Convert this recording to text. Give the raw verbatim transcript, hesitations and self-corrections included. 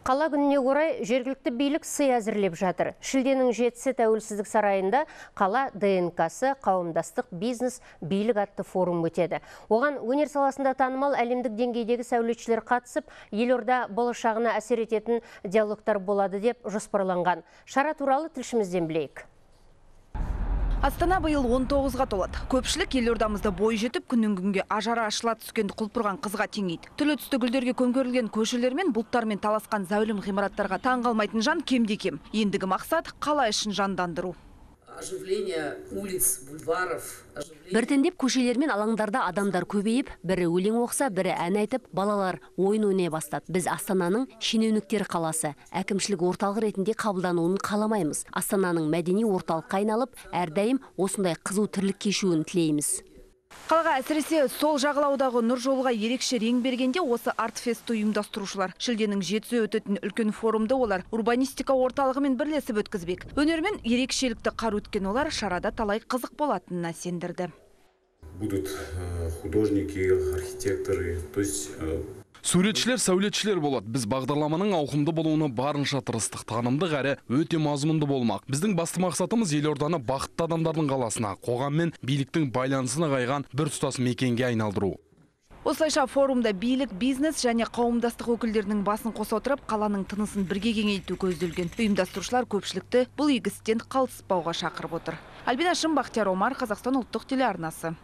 Қала күніне орай жергілікті билік сый әзірлеп жатыр. Шілденің жетісі Тәуелсіздік сарайында қала ДНК-сы қауымдастық бизнес билік атты форум өтеді. Оған өнер саласында танымал әлемдік деңгейдегі сәулетшілер қатысып, елорда болашағына әсер ететін диалогтар болады деп жоспарланған. Шара туралы тілшімізден білейік. Астана биыл он тоғызға толады. Көпшілік елордамызда бой жетіп, күннен күнге ажары ашыла түскенді құлпырған қызға теңейді. Түрлі түсті гүлдерге көмкерілген көшелер мен бұлттармен таласқан зәулім ғимараттарға таң қалмайтын жан кемде кем. Ендігі мақсат қала ішін жандандыру. Оживление улиц, бульваров. Біртіндеп көшелер мен алаңдарда адамдар көбейіп, бірі өлең оқса, бірі ән айтып, балалар ойын ойнай бастады. Біз Астананың шенеуніктер қаласы, әкімшілік орталық ретінде қабылдануын қаламаймыз. Астананың мәдени орталыққа айналып, әрдайым осындай қызу тірлік кешуін тілейміз. Қалаға әсіресе сол жағалаудағы нұр жолға ерекше рең бергенде осы артфесті ұйымдастырушылар. Шілденің жетісі өтетін үлкен форумды олар урбанистика орталығымен бірлесіп өткізбек. Өнермен ерекшелікті қар өткен олар шарада талай қызық болатынына сендірді. Будут художники, архитекторы, то есть... Суретшілер, сәулетшілер болады. Біз бағдарламаның ауқымды болуына барынша тырыстық, танымдық әрі өте мазмұнды болмақ. Біздің басты мақсатымыз елорданы бақытты адамдардың қаласына, қоғам мен биліктің байланысына қайған бір тұтас мекенге айналдыру. Осылайша форумда билік, бизнес және қауымдастық өкілдерінің басын қоса отырып, қаланың тынысын бірге кеңейту көзделген. Ұйымдастырушылар көпшілікті бұл игі істен қалыспауға шақырып отыр. Альбина Шым, Бақтияр Омар, Қазақстан ұлттық телеарнасы.